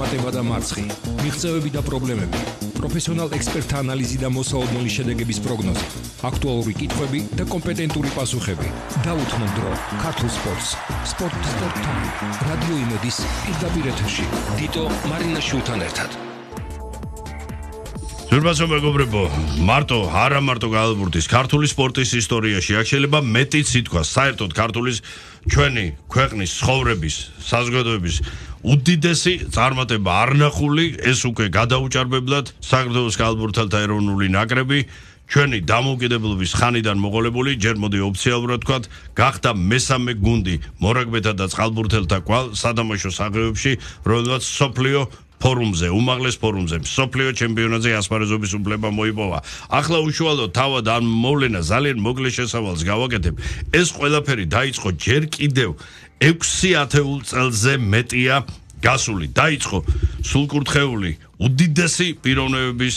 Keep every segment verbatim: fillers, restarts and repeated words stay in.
პატება და მარცხი, მიღწევები და პრობლემები, პროფესიონალ ექსპერტთა ანალიზი და მოსაოდნელი შედეგების პროგნოზი, აქტუალური კითხვები და კომპეტენტური პასუხები. დაუთმო დრო ქართულ სპორტს. Sport Sport Time. რადიო იმედის პირდაპირ ეთერში. დიტო მარინაშვილთან ერთად. ზურბასო მეგობრებო, მარტო, არა მარტო გაალბურთის, ქართული სპორტის ისტორიაში აქ შეიძლება მეტიც ითქვას, საერთოდ ქართულის ჩვენი ქვეყნის ცხოვრების, საზოგადოების უდიდესი წარმატება არნახული, ეს უკვე გადაუჭარბებლად საქართველოს გაალბურთელთა ეროვნული ნაკრები ჩვენი დამოუკიდებლობის ხანიდან მოყოლებული, ჯერ მოდი ოფიციალურად ვთქვათ, გახდა მესამე გუნდი მორაგბეთა და წყალბურთელთა კვალ სადამაშო საღებებში, რომელსაც სოფლიო ფორუმზე, უმაღლეს ფორუმზე, სოფლიო ჩემპიონატზე ასპარეზობის უფლება მოიპოვა. ახლა უშუალოდ თავად ამ მოვლენა ძალიან მოკლე შესავალს გავაკეთებ. ეს ყველაფერი დაიწყო ჯერ კიდევ ექვსი ათეულ წელზე მეტია გასული. დაიწყო სულკურთხეული უდიდესი პიროვნებების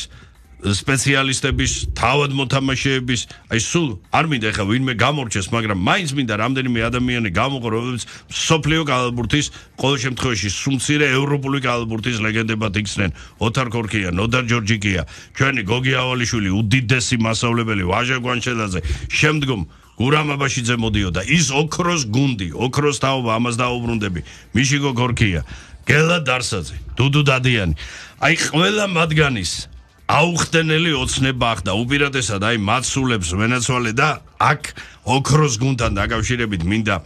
სპეციალისტების, თავად მოთამაშეების, აი სულ არ მინდა ხა ვინმე გამორჩეს, მაგრამ მაინც მინდა რამდენიმე ადამიანი გამოყო, რომლებიც სოფლიო გაალბურთის ყოველ შემთხვევაში სუმცირე ევროპული გაალბურთის ლეგენდებად იქცნენ. ოთარ ქორქია, ნოდარ ჯორჯიკია, ჩვენი გოგი ავალიშვილი, უდიდესი მასწავლებელი ვაჟა გვანჩელაძე, შემდგომ გურამ აბაშიძე მოდიოდა, ის ოქროს გუნდი, ოქროს თაობა, ამას დაუბრუნდები, მიშიგო ქორქია, გელა დარსაძე, დუდუ დადიანი. აი ყველა მათგანის აუხტენელი ოცნება ახდა უპირატესად აი მაცულებს ვენაცვალე და აქ ოქროს გუნდთან დაკავშირებით მინდა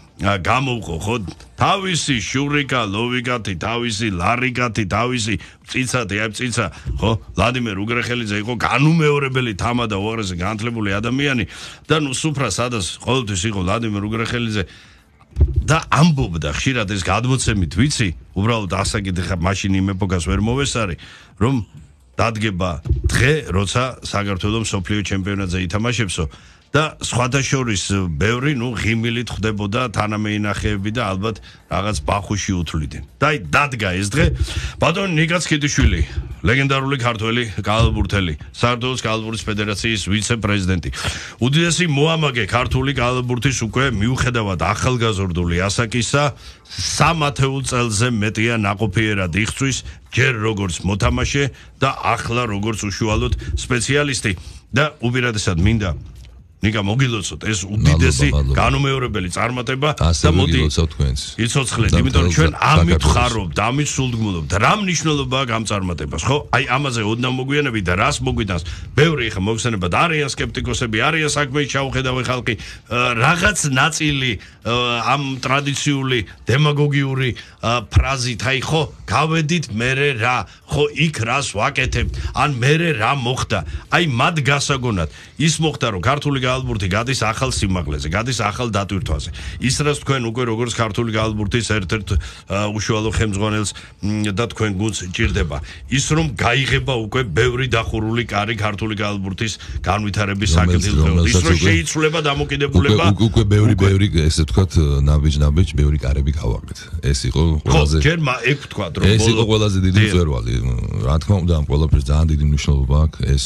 გამოვყო ხო თავისი შურიკა ლოვიკათი თავისი ლარიკათი თავისი წიცათი აი წიცა ხო ვლადიმერ უგრეხელიძე იყო განუმეორებელი თამა და უაღრესად განათლებული ადამიანი და ნუ სუფრა სადაც ყოველთვის იყო ვლადიმერ უგრეხელიძე და ამბობდა ხშირად ეს გადმოცემით ვიცი უბრალოდ ასაკიდე ხა მაშინ იმ ეპოქას ვერ მოვესარი რომ დადგება დღე, როცა საქართველოს მსოფლიო ჩემპიონატზე ითამაშებსო და სხვათა შორის ბევრი, ნუ ღიმილით ხდებოდა თანამეინახეები და ალბათ რაღაც ბახუში უთვლიდნენ. და აი დადგა ეს დღე, ბატონი ნიკა ცქიდიშვილი, ლეგენდარული ქართველი გაალბურთელი, საქართველოს გაალბურთის ფედერაციის ვიცე-პრეზიდენტი. უდიდესი მოამაგე ქართული გაალბურთის უკვე მიუხედავად ახალგაზრდული ასაკისა, სამ ათეულ წელზე მეტია ნაყოფიერად იხცვის, ჯერ როგორც მოთამაშე და ახლა როგორც უშუალოდ სპეციალისტი და უპირატესად მინდა ნიკა მოგილოცოთ ეს უდიდესი განუმეორებელი წარმატება და მოდი იცოცხლეთ, იმიტომ რომ ჩვენ ამით ხარობთ, ამით სულდგმულობთ. რა მნიშვნელობა აქვს ამ წარმატებას, ხო? აი ამაზე ოდნავ მოგვიანებით და რას მოგვიტანს? ბევრი ხა მოხსენებათ, არიან სკეპტიკოსები, არიან საქმეში ჩაუხედავი ხალხი, რაღაც ნაწილი ამ ტრადიციული დემაგოგიური ფრაზით, აი ხო, გავედით მერე რა, ხო, იქ რას ვაკეთებთ, ან მერე რა მოხდა. აი მათ გასაგონად ის მოხდა, რომ ქართული გაალბურთი გადის ახალ სიმაღლეზე, გადის ახალ დატვირთვაზე. ის რაც თქვენ უკვე როგორც ქართული გაალბურთის ერთ-ერთ უშუალო ხელმძღვანელს და თქვენ გუნდს ჭირდება. ის რომ გაიღება უკვე ბევრი დახურული კარი ქართული გაალბურთის განვითარების საკითხით. ის რომ შეიცვლება დამოკიდებულება. უკვე ბევრი ბევრი ესე ვთქვათ, ნაბიჯ-ნაბიჯ ბევრი კარები გავაკეთ. ეს იყო ყველაზე ხო, ჯერ ეგ ვთქვათ, რომ ეს იყო ყველაზე დიდი მწვერვალი. რა თქმა უნდა, ამ ყველაფერს ძალიან დიდი მნიშვნელობა აქვს ეს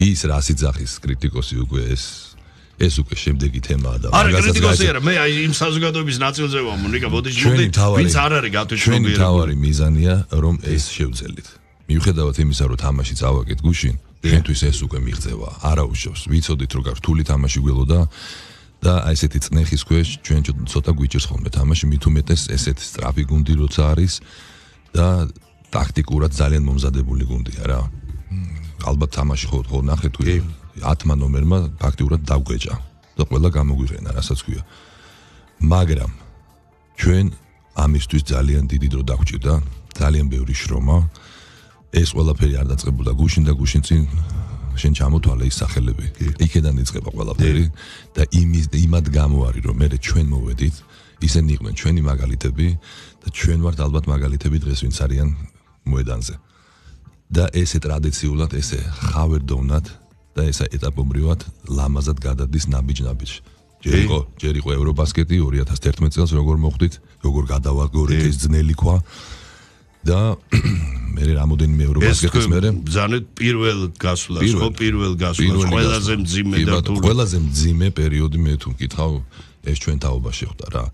ის რასიძახის კრიტიკოსი უკვე ეს ეს უკვე შემდეგი თემაა და არა კრიტიკოსი არა მე აი იმ საზოგადოების ნაწილზე ვარ მონიკა ბოდიში მოდი ვინც არ არის გათვითმობიერებული ჩვენი თავარი მიზანია რომ ეს შევძელით მიუხედავად იმისა რომ თამაში წავაკეთ გუშინ ჩვენთვის ეს უკვე მიღწევა არა უშავს ვიცოდით რომ გართული თამაში გველოდა და აი ესეთი წნეხის ქვეშ ჩვენ ცოტა გვიჭირს ხოლმე თამაში მით უმეტეს ესეთი სტრაფი გუნდი როცა არის და ტაქტიკურად ძალიან მომზადებული გუნდია რა ალბათ თამაში ხო ხო ნახე თუ ათმა ნომერმა ფაქტიურად დაგვეჭა და ყველა გამოგვიყენა რასაც ქვია მაგრამ ჩვენ ამისთვის ძალიან დიდი დრო დაგვჭირდა ძალიან ბევრი შრომა ეს ყველაფერი არ დაწყებულა გუშინ და გუშინ წინ შენ ჩამოთვალე ის სახელები იქედან იწყება ყველაფერი და იმის იმად გამოარი რომ მე ჩვენ მოვედით ისინი იყვნენ ჩვენი მაგალითები და ჩვენ ვართ ალბათ მაგალითები დღეს ვინც არიან მოედანზე და ესე ტრადიციულად ესე ხავერდოვნად და ესა ეტაპობრივად ლამაზად გადადის ნაბიჯ-ნაბიჯ. ჯერ იყო, ჯერ იყო ევრობასკეტი ორი ათას ერთმეტ წელს როგორ მოხდით, როგორ გადავაგორეთ ეს ძნელი ქვა და მე რამოდენიმე ევრობასკეტის მერე ბრძანეთ პირველ გასვლას, ხო პირველ გასვლას, ყველაზე მძიმე და თუ ყველაზე მძიმე პერიოდი მე თუ მკითხავ ეს ჩვენ თაობაში ხვდა რა.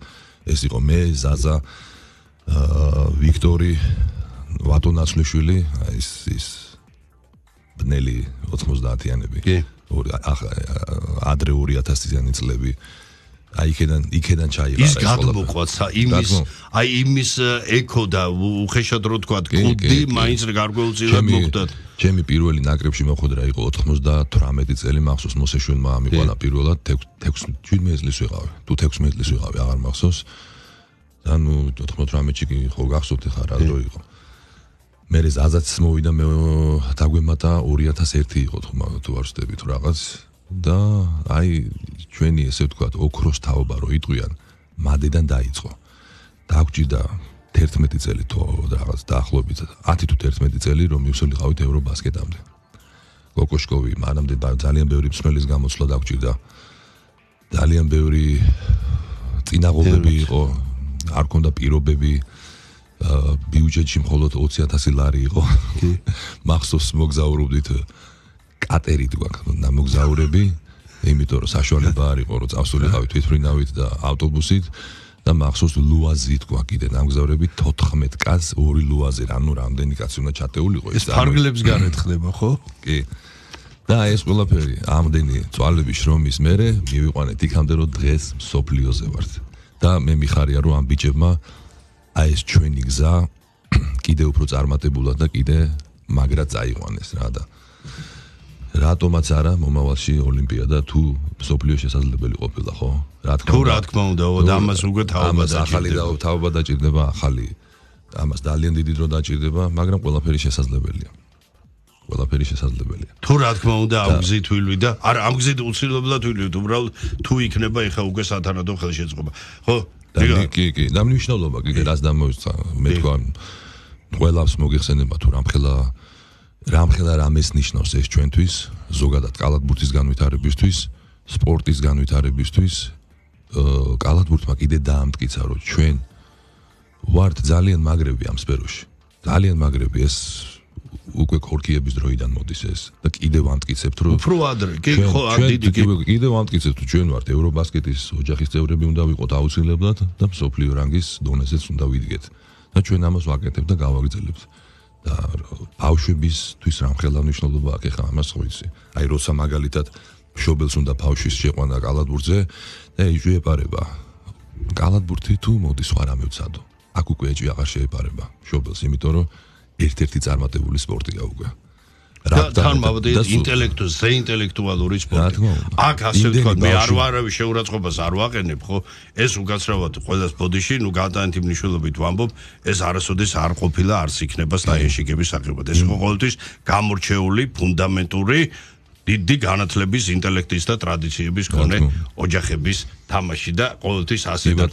ეს იყო მე, ზაზა, ვიქტორი ვატო ნაცვლიშვილი, ის ის ბნელი ოთხმოცდაათიანები. კი. ადრე ორი ათასიანი წლები. აი იქიდან იქიდან ჩაიღარა ის გადმოყვაც იმის აი იმის ეკო და უხეშად რო თქვა კუდი მაინც გარკვეულწილად მოხდათ. ჩემი პირველი ნაკრებში მოხვედრა იყო ოთხმოცდათვრამეტი წელი მახსოვს მოსეშვენმა ამიყვანა პირველად თექვსმეტ წლის ვიყავი. თუ თექვსმეტ წლის ვიყავი, აღარ მახსოვს. და ნუ ოთხმოცდაათში კი ხო გახსოვთ ხა რა დრო იყო. მე ზაზაც მოვიდა მე დაგვემატა ორი ათას ერთი იყო თუ არ ვცდები თუ რაღაც და აი ჩვენი ესე ვთქვათ ოქროს თაობა რო იტყვიან მადედან დაიწყო. დაგვჭირდა თერთმეტი წელი თუ რაღაც დაახლოებით ათი თუ თერთმეტი წელი რომ მივსულიყავით ევრობასკეტამდე. კოკოშკოვი მანამდე ძალიან ბევრი მსმელის გამოცვლა დაგვჭირდა. ძალიან ბევრი წინაღობები იყო, არ ქონდა პირობები. ბიუჯეტში მხოლოდ ოცი ათასი ლარი იყო. მახსოვს მოგზაურობდით კატერით გვაქვს მოგზაურები, იმიტომ რომ საშუალება არ იყო რომ წავსულიყავით თვითმფრინავით და ავტობუსით და მახსოვს ლუაზით გვაქვს კიდე ნამგზავრები თოთხმეტ კაცს ორი ლუაზი, ანუ რამდენი კაცი უნდა ჩატეულიყო ეს ფარგლებს გარეთ ხდება ხო? კი. და ეს ყველაფერი ამდენი წვალების შრომის მერე მივიყვანეთ იქამდე რომ დღეს მსოფლიოზე ვართ. და მე მიხარია რომ ამ ბიჭებმა აი ეს ჩვენი გზა კიდე უფრო წარმატებულად და კიდე მაგრად წაიყვანეს რა და რატომაც არა მომავალში ოლიმპიადა თუ მსოფლიო შესაძლებელი ყოფილა ხო? რა თქმა უნდა. თუ რა თქმა უნდა, და ამას უკვე თაობა დაჭირდება. ახალი თაობა დაჭირდება, ახალი ამას ძალიან დიდი დრო დაჭირდება, მაგრამ ყველაფერი შესაძლებელია. ყველაფერი შესაძლებელია. თუ რა თქმა უნდა, ამ გზით ვილვი და არა ამ გზით უცილებლად ვილვით, უბრალოდ თუ იქნება ეხა უკვე სათანადო ხელშეწყობა. ხო? კი, კი, და მნიშვნელობა კიდე რაც დამოიწყა, მე თქვა ყველას მოგიხსენება თუ რამხელა რამხელა რამეს ნიშნავს ეს ჩვენთვის, ზოგადად კალათბურთის განვითარებისთვის, სპორტის განვითარებისთვის, კალათბურთმა კიდე დაამტკიცა, რომ ჩვენ ვართ ძალიან მაგრები ამ სფეროში. ძალიან მაგრები ეს უკვე ქორქიების დროიდან მოდის ეს და კიდევ ამტკიცებთ რომ უფრო ადრე კი ხო დიდი კიდევ ამტკიცებთ რომ ჩვენ ვართ ევრობასკეტის ოჯახის წევრები უნდა ვიყოთ აუცილებლად და მსოფლიო რანგის დონეზეც უნდა ვიდგეთ და ჩვენ ამას ვაკეთებთ და გავაგრძელებთ და ბავშვებისთვის რამხელა მნიშვნელობა აქვს ხა ამას ხო იცი აი როცა მაგალითად მშობელს უნდა ბავშვის შეყვანა კალათბურთზე და იჯეპარება კალათბურთი თუ მოდის სხვა რამე ვცადო აქ უკვე ეჭვი აღარ შეეპარება მშობელს იმიტომ რომ ერთ-ერთი წარმატებული სპორტია უკვე. და თან მოვდეთ ინტელექტუალ, ზე ინტელექტუალური სპორტი. აქ ასე ვთქვათ, მე არ ვარავის შეურაცხყოფას არ ვაყენებ, ხო? ეს უკაცრავად ყველას ბოდიში, ნუ გადაანთი მნიშვნელობით ვამბობ, ეს არასოდეს არ ყოფილა, არც იქნება სტაიენშიკების საკრებად. ეს იყო ყოველთვის გამორჩეული, ფუნდამენტური დიდი განათლების, ინტელექტის და ტრადიციების მქონე ოჯახების თამაში და ყოველთვის ასე და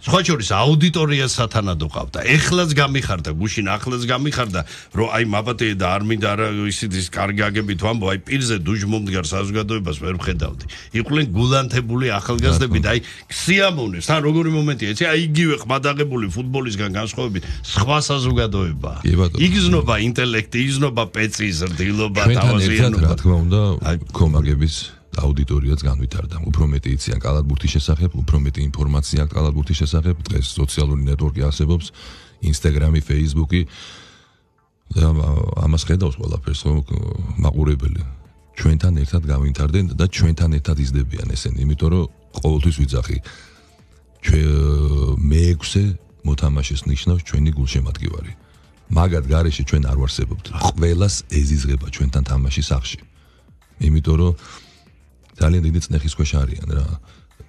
სხვა შორის აუდიტორიას სათანადო ყავდა. ეხლაც გამიხარდა, გუშინ ახლაც გამიხარდა, რომ აი მაპატე და არ მინდა რა ისიც კარგი აგებით ვამბო, აი პირზე დუჯმომდგარ საზოგადოებას ვერ ვხედავდი. იყვნენ გულანთებული ახალგაზრდები და აი სიამოვნებს. თან როგორი მომენტია, იცი, აი იგივე ყმადაღებული ფუტბოლისგან განსხვავებით სხვა საზოგადოება. იგზნობა ინტელექტი, იგზნობა პეცის ზრდილობა, თავაზიანობა. რა თქმა უნდა, კომაგების აუდიტორიაც განვითარდა. უფრო მეტი იციან კალათბურთის შესახებ, უფრო მეტი ინფორმაცია აქვს კალათბურთის შესახებ. დღეს სოციალური ნეტვორკი არსებობს, ინსტაგრამი, ფეისბუქი. და ამას ხედავს ყველაფერს, ხო, მაყურებელი. ჩვენთან ერთად განვითარდნენ და ჩვენთან ერთად იზრდებიან ესენი, იმიტომ რომ ყოველთვის ვიძახი. მეექვსე მოთამაშეს ნიშნავს ჩვენი გულშემატკივარი. მაგათ გარეშე ჩვენ არ ვარსებობთ. ყველას ეზიზღება ჩვენთან თამაში სახში. იმიტომ რომ ძალიან დიდი წნეხის ქვეშ არიან რა.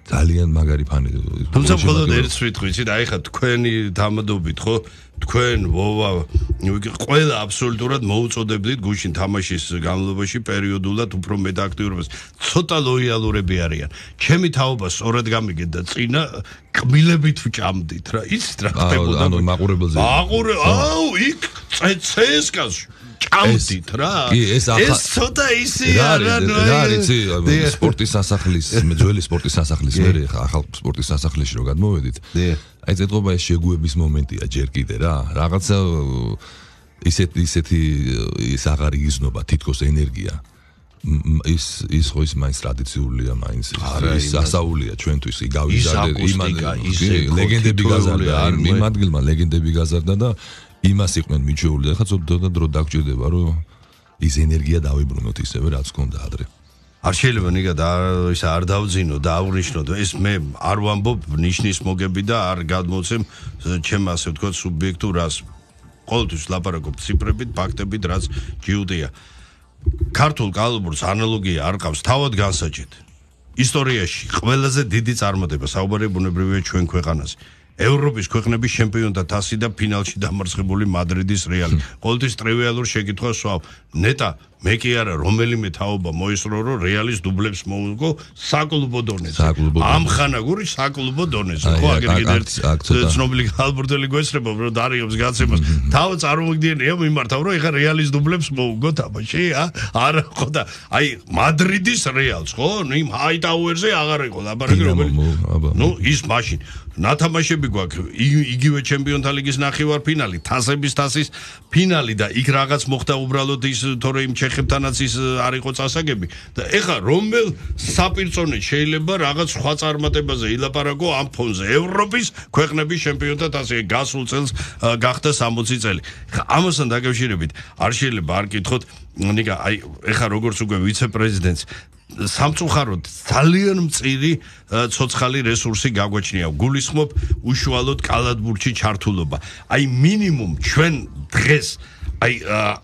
ძალიან მაგარი ფანი. თუმცა მხოლოდ ერთს ვიტყვით, აი ხა თქვენი დამადობით, ხო? თქვენ ვოვა ყველა აბსოლუტურად მოუწოდებდით გუშინ თამაშის განმავლობაში პერიოდულად უფრო მეტ აქტიურობას. ცოტა ლოიალურები არიან. ჩემი თაობა სწორად გამიგეთ და წინა კმილებით ვჭამდით რა. იცით რა ხდებოდა? ანუ მაყურებელზე. მაყურე, აუ, იქ ცესკას ჭამდით რა. კი, ეს ახლა ეს ცოტა ისე არა, რა არის სპორტის სასახლის, ძველი სპორტის სასახლის მერე ხა ახალ სპორტის სასახლეში რო გადმოვედით. აი ზეთყობა ეს შეგუების მომენტია ჯერ კიდე რა. რაღაცა ისეთ ისეთი ის აღარ იგზნობა თითქოს ენერგია. ის ის ხო ის მაინც ტრადიციულია, მაინც ის სასაულია ჩვენთვის. იგავი და იმან ლეგენდები გაზარდა, იმ ადგილმა ლეგენდები გაზარდა და იმას იყვნენ მიჩეული და ხა ცოტა დრო დაგჭირდება რომ ის ენერგია დავიბრუნოთ ისევე რაც გქონდა ადრე. არ შეიძლება ნიკა და ის არ დავძინო და აღვნიშნო და ეს მე არ ვამბობ ნიშნის მოგები და არ გადმოცემ ჩემ ასე ვთქვათ სუბიექტურ რას ყოველთვის ლაპარაკობ ციფრებით, ფაქტებით, რაც ჯიუტია. ქართულ კალბურს ანალოგია არ ყავს თავად განსაჭეთ. ისტორიაში ყველაზე დიდი წარმატება საუბარი ბუნებრივია ჩვენ ქვეყანაზე. ევროპის ქვეყნების ჩემპიონთა თასი და ფინალში დამარცხებული მადრიდის რეალი. ყოველთვის ტრივიალურ შეკითხვას ვსვავ. ნეტა მე კი არა რომელიმე თაობა მოისრო რომ რეალის დუბლებს მოუგო საკლუბო დონეზე. ამ ხანაგური საკლუბო დონეზე. ხო აგერ კიდე ცნობილი კალბურთელი გვესწრება რომ დარიობს გაცემას. თავ წარმოგიდგენია მიმართავ რომ ეხა რეალის დუბლებს მოუგო თამაში ა? არა ხო და აი მადრიდის რეალს ხო? იმ ჰაიტაუერზე აღარ იყო ლაპარაკი რომელი. ნუ ის მაშინ ნათამაშები გვაქვს იგივე ჩემპიონთა ლიგის ნახევარფინალი, თასების თასის ფინალი და იქ რაღაც მოხდა უბრალოდ ის თორე იმ ჩეხებთანაც ის არ იყო წასაგები და ეხა რომელ საპირწონედ შეიძლება რაღაც სხვა წარმატებაზე ილაპარაკო ამ ფონზე ევროპის ქვეყნების ჩემპიონთა თასი გასულ წელს გახდა სამოცი წელი. ამასთან დაკავშირებით არ შეიძლება არ კითხოთ ნიკა აი ეხა როგორც უკვე ვიცე-პრეზიდენტს სამწუხაროდ ძალიან მწირი ცოცხალი რესურსი გაგვაჩნია. გულისხმობ უშუალოდ კალათბურთში ჩართულობა. აი მინიმუმ ჩვენ დღეს აი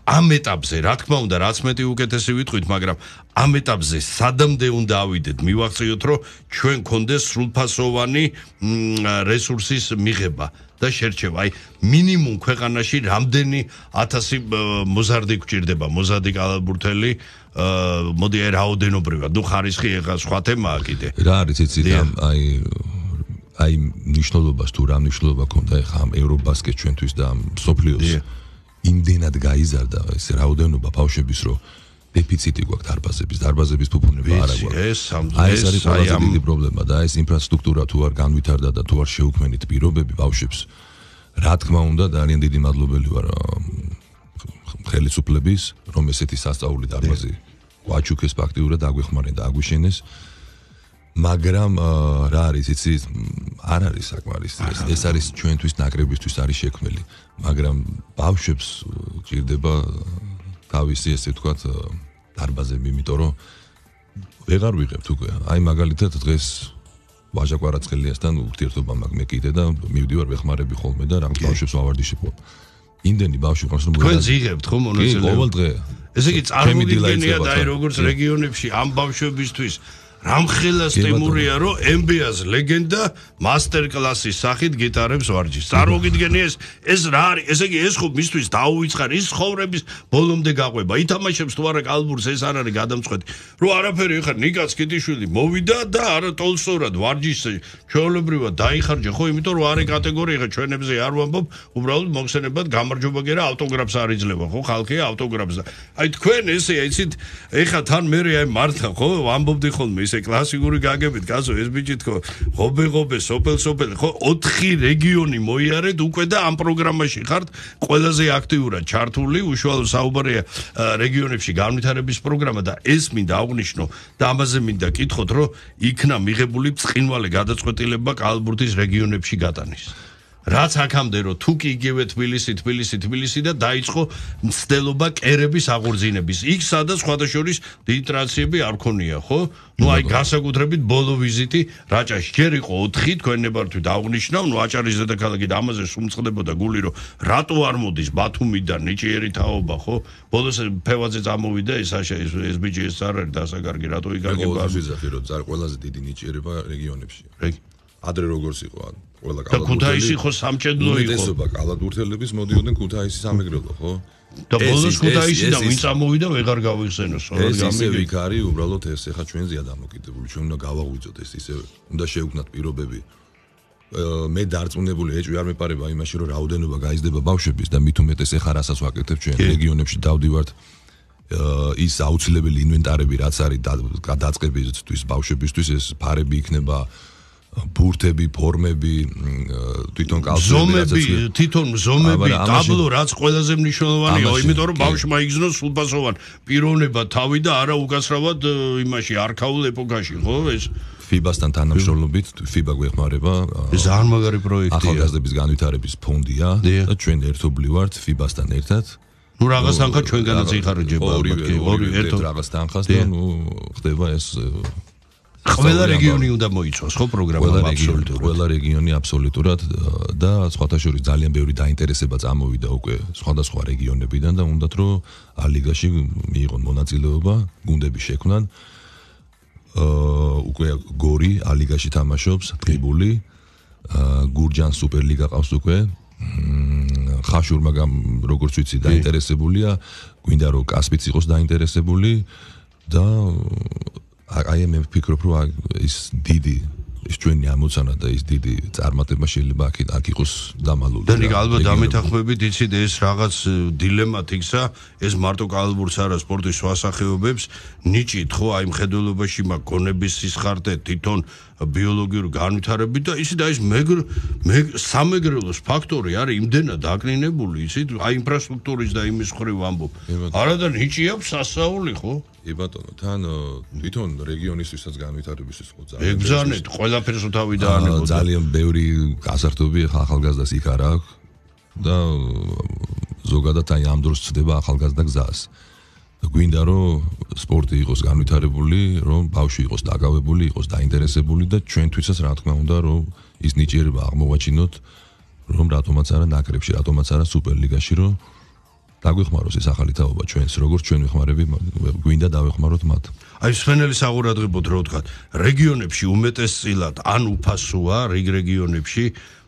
ამ ეტაპზე რა თქმა უნდა რაც მეტი უკეთესი ვიტყვით, მაგრამ ამ ეტაპზე სადამდე უნდა ავიდეთ, მივახციოთ რომ ჩვენ გქონდეს სრულფასოვანი რესურსის მიღება და შერჩევა. აი მინიმუმ ქვეყანაში რამდენი ათასი მოზარდი გვჭირდება, მოზარდი კალათბურთელი მოდი აი რაოდენობრივად, ნუ ხარისხი ეხა სხვა თემაა კიდე. რა არის იცით აი აი ნიშნულობას თუ რა ნიშნულობა ქონდა ეხა ამ ევრობასკეტ ჩვენთვის და ამ სოფლიოს იმდენად გაიზარდა ეს რაოდენობა ბავშვების რომ დეფიციტი გვაქვს დარბაზების, დარბაზების ფუფუნება არ აქვს. აი ეს არის ყველაზე დიდი პრობლემა და ეს ინფრასტრუქტურა თუ არ განვითარდა და თუ არ შეუქმნით პირობები ბავშვებს, რა თქმა უნდა ძალიან დიდი მადლობელი ვარ ხელისუფლების, რომ ესეთი სასწაული დარბაზი გვაჩუქეს ფაქტიურად აგვეხმარენ და აგვიშენეს. მაგრამ რა არის იცი არ არის საკმარისი ეს არის ჩვენთვის ნაკრებისთვის არის შექმნილი, მაგრამ ბავშვებს ჭირდება თავისი ესე ვთქვათ დარბაზები, იმიტომ რომ ვეღარ ვიღებთ უკვე. აი მაგალითად დღეს ვაჟა კვარაცხელიასთან ურთიერთობა მაქვს მე კიდე და მივდივარ ვეხმარები ხოლმე და რაღაც ბავშვებს ვავარდიშებ. იმდენი ბავშვი ყავს რომ თქვენ ზიღებთ ხო მონაწილეობა? კი, ყოველ დღე. ესე იგი წარმოგიდგენია და აი როგორც რეგიონებში ამ ბავშვებისთვის რამხელა სტიმურია რომ ემ ბი ას ლეგენდა მასტერ კლასის სახით გიტარებს ვარჯიშს. წარმოგიდგენია ეს ეს რა არის? ესე იგი ეს ხო მისთვის დაუვიწყარ ის ხოვრების ბოლომდე გაყვება. ითამაშებს თუ არა კალბურს ეს არ არის გადამწყვეტი. რომ არაფერი ეხა ნიკაც კიტიშვილი მოვიდა და არა ტოლსტოვრად ვარჯიშს ჩვეულებრივად დაიხარჯა ხო, იმიტომ რომ არის კატეგორია ეხა ჩვენებზე არ ვამბობ, უბრალოდ მოხსენებად გამარჯობა გერა ავტოგრაფს არ იძლევა ხო, ხალხი ავტოგრაფს და აი თქვენ ესე იცით ეხა თან მე აი მართა ხო ვამბობდი ხოლმე ეს კლასიკური გაგებით კაცო ეს ბიჭი თქო ღობე ღობე სოფელ სოფელ ხო ოთხი რეგიონი მოიარეთ უკვე და ამ პროგრამაში ხართ ყველაზე აქტიურად ჩართული. უშუალოდ საუბარია რეგიონებში განვითარების პროგრამა და ეს მინდა აღვნიშნო და ამაზე მინდა კითხოთ რომ იქნა მიღებული ბრწყინვალე გადაწყვეტილება კალათბურთის რეგიონებში გატანის. რაც აქამდე რომ თუ კი იგივე თბილისი თბილისი თბილისი და დაიწყო მცდელობა კერების აღორძინების. იქ სადაც სხვადასხვა დიდი ტრანსფერები არ ქონია ხო? ნუ აი განსაკუთრებით ბოლო ვიზიტი რაჭაში ჯერ იყო ოთხი თქვენ ნებართვით აღნიშნავ, ნუ აჭარის დედაქალაქი და ამაზე სუმწყდებოდა გული რომ რატო არ მოდის ბათუმიდან ნიჭიერი თაობა ხო? ბოლოს ფევაძე წამოვიდა ეს ეს ბიჭი ეს არ არის დასაკარგი რატო იგარგება? ეს ვიზახი რომ ზარ ყველაზე დიდი ნიჭიერება რეგიონებში. ადრე როგორც იყო ყველა კალათბურთელი და ქუთაისი ხო სამჭედლო იყო. უდიდესობა კალათბურთელების მოდიოდნენ ქუთაისის სამეგრელო ხო? და ბოლოს ქუთაისი და ვინ წამოვიდა ვეღარ გავიხსენოს. ეს ისე ვიქ არის უბრალოდ ეს ეხა ჩვენზეა დამოკიდებული. ჩვენ უნდა გავაღვიძოთ ეს ისე უნდა შევქმნათ პირობები. მე დარწმუნებული ეჭვი არ მეპარება იმაში რომ რაოდენობა გაიზრდება ბავშვების და მით უმეტეს ეხა რასაც ვაკეთებ ჩვენ რეგიონებში დავდივართ ის აუცილებელი ინვენტარები რაც არის გადაწყებისთვის ბავშვებისთვის ეს ფარები იქნება ბურთები, ფორმები, თვითონ კალთები, თვითონ ზომები, ტაბლო რაც ყველაზე მნიშვნელოვანია, იმიტომ რომ ბავშვმა იგზნოს სრულფასოვანი პიროვნება თავი და არა უკაცრავად იმაში არქაულ ეპოქაში, ხო ეს? ფიბასთან თანამშრომლობით ფიბა გვეხმარება. ეს ძალიან მაგარი პროექტია. ახალგაზრდების განვითარების ფონდია და ჩვენ ერთობლივ ვართ ფიბასთან ერთად. ნუ რაღაც თანხა ჩვენგანაც იხარჯება ალბათ კი ორი ერთ რაღაც თანხას და ნუ ხდება ეს ყველა რეგიონი უნდა მოიცვას ხო პროგრამა აბსოლუტურად ყველა რეგიონი აბსოლუტურად და სხვათა შორის ძალიან ბევრი დაინტერესება წამოვიდა უკვე სხვადასხვა რეგიონებიდან და უნდათ რომ ალიგაში მიიღონ მონაწილეობა გუნდები შექმნან უკვე გორი ალიგაში თამაშობს ტრიბული გურჯან სუპერლიგა ყავს უკვე ხაშურ მაგრამ როგორც ვიცი დაინტერესებულია გვინდა რომ კასპიც იყოს დაინტერესებული და აი მე ვფიქრობ რომ ის დიდი ის ჩვენი ამოცანა და ის დიდი წარმატება შეიძლება აქ აქ იყოს დამალული. და ნიკ ალბათ დამეთანხმებით იცით ეს რაღაც დილემათ იქცა ეს მარტო კალბურს არა სპორტის სხვა სახეობებს ნიჭით ხო აი მხედველობაში მაგ გონების სისხარტე თვითონ ბიოლოგიური განვითარებით და ისე და ის მეგრ სამეგრელოს ფაქტორი არის იმდენად დაკნინებული იცით აი ინფრასტრუქტურის და იმის ხრივ ამბობ. არა და ნიჭი აქვს სასაული ხო? კი ბატონო, თან თვითონ რეგიონისთვისაც განვითარებისთვის ხო ძალიან. ეგზანეთ, ყველაფერს თავი დაანებოდა. ძალიან ბევრი გასართობი ახალგაზრდას იქ არა აქვს და ზოგადად აი ამ დროს ცდება ახალგაზრდა გზას. გვინდა რომ სპორტი იყოს განვითარებული, რომ ბავშვი იყოს დაკავებული, იყოს დაინტერესებული და ჩვენთვისაც რა თქმა უნდა რომ ის ნიჭიერება აღმოვაჩინოთ, რომ რატომაც არა ნაკრებში, რატომაც არა სუპერლიგაში, რომ დაგვეხმაროს ეს ახალი თაობა ჩვენს, როგორც ჩვენ ვეხმარები, გვინდა დავეხმაროთ მათ. აი სვენელი საღურადღებოდ რო ვთქვათ, რეგიონებში უმეტესწილად ან უფასოა რეგ რეგიონებში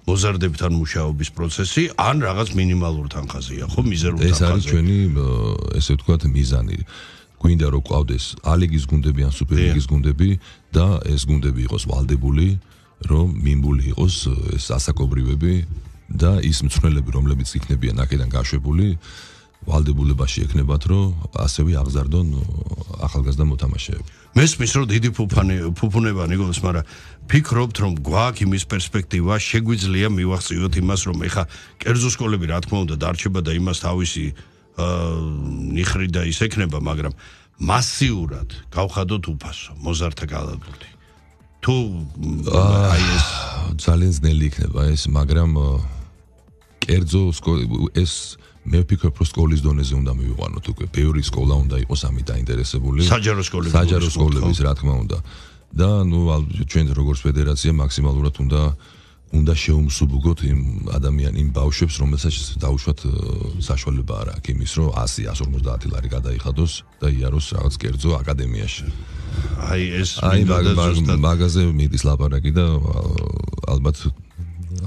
მოზარდებთან მუშაობის პროცესი, ან რაღაც მინიმალურ თანხაზეა, ხო, მიზერულ თანხაზე. ეს არის ჩვენი ესე ვთქვათ მიზანი. გვინდა რომ ყავდეს ალიგის გუნდები ან სუპერლიგის გუნდები და ეს გუნდები იყოს ვალდებული, რომ მინბული იყოს ეს ასაკობრივები და ის მწვრთნელები, რომლებიც იქნებიან აქედან გაშვებული ვალდებულებაში ექნებათ, რომ ასევე აღზარდონ ახალგაზრდა მოთამაშეები. მესმის რომ დიდი ფუფანი ფუფუნება ნიკოლას, მაგრამ ფიქრობთ რომ გვაქვს იმის პერსპექტივა, შეგვიძლია მივახციოთ იმას, რომ ეხა კერძო სკოლები რა თქმა უნდა დარჩება და იმას თავისი ნიხრი და ის ექნება, მაგრამ მასიურად გავხადოთ უფასო, მოზარდთა გალაბურთი. თუ აი ეს ძალიან ძნელი იქნება ეს, მაგრამ კერძო ეს მე ვფიქრობ რომ სკოლის დონეზე უნდა მივიყვანოთ უკვე ბევრი სკოლა უნდა იყოს ამით დაინტერესებული საჯარო სკოლები საჯარო სკოლების რა თქმა უნდა და ნუ ჩვენ როგორც ფედერაცია მაქსიმალურად უნდა უნდა შეუმსუბუქოთ იმ ადამიან იმ ბავშვებს რომელსაც დაუშვათ საშუალება არ აქვს იმის რომ ასი ასი ორმოცდაათი ლარი გადაიხადოს და იაროს რაღაც კერძო აკადემიაში აი ეს აი მაგაზე მიდის ლაპარაკი და ალბათ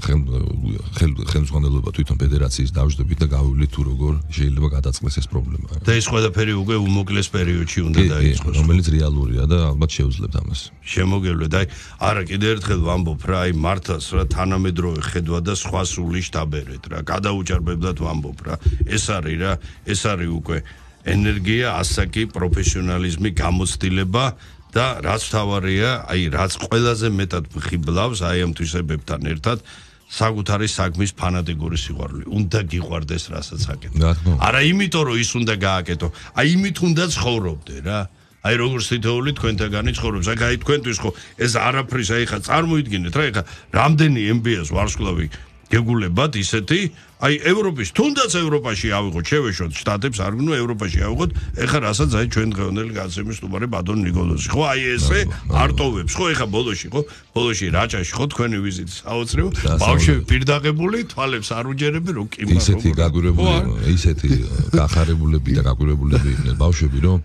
ხელმძღვანელობა თვითონ ფედერაციის დავждებით და გავივლით თუ როგორ შეიძლება გადაწყდეს ეს პრობლემა. და ეს ყველაფერი უკვე უმოკლეს პერიოდში უნდა დაიწყოს, რომელიც რეალურია და ალბათ შეუძლებთ ამას. შემოგევლეთ. აი, არა, კიდე ერთხელ ვამბობ რა, აი მართლაც რა თანამედროვე ხედვა და სხვა სული შტაბერეთ რა. გადაუჭარბებლად ვამბობ რა. ეს არის რა, ეს არის უკვე ენერგია, ასაკი, პროფესიონალიზმი, გამოცდილება და რაც თავარია, აი რაც ყველაზე მეტად ხიბლავს აი ამ თვისებებთან ერთად საკუთარი საქმის ფანატიკური სიყვარული. უნდა გიყვარდეს რასაც აკეთებ. არა იმიტომ რომ ის უნდა გააკეთო, აი იმით უნდა ცხოვრობდე რა. აი როგორც თითოეული თქვენთაგანი ცხოვრობს. აი თქვენთვის ხო ეს არაფრის აი ხა წარმოიდგინეთ რა, ხა რამდენი ემ ბი ეს ვარსკვლავი გეგულებათ ისეთი, აი ევროპის, თუნდაც ევროპაში ავიღოთ, შევეშოთ შტატებს, არ გნო ევროპაში ავიღოთ, ეხა რასაც აი ჩვენ დღევანდელი გაცემის სტუმარი ბატონ ნიკოლოზი. ხო, აი ესე არტოვებს, ხო, ეხა ბოლოში, ხო, ბოლოში რაჭაში, ხო, თქვენი ვიზიტი საოცრებო, ბავშვები პირდაღებული, თვალებს არ უჯერები, რომ კი მაგრამ ისეთი გაგვირებული, ისეთი გახარებულები და გაგვირებულები იყვნენ ბავშვები, რომ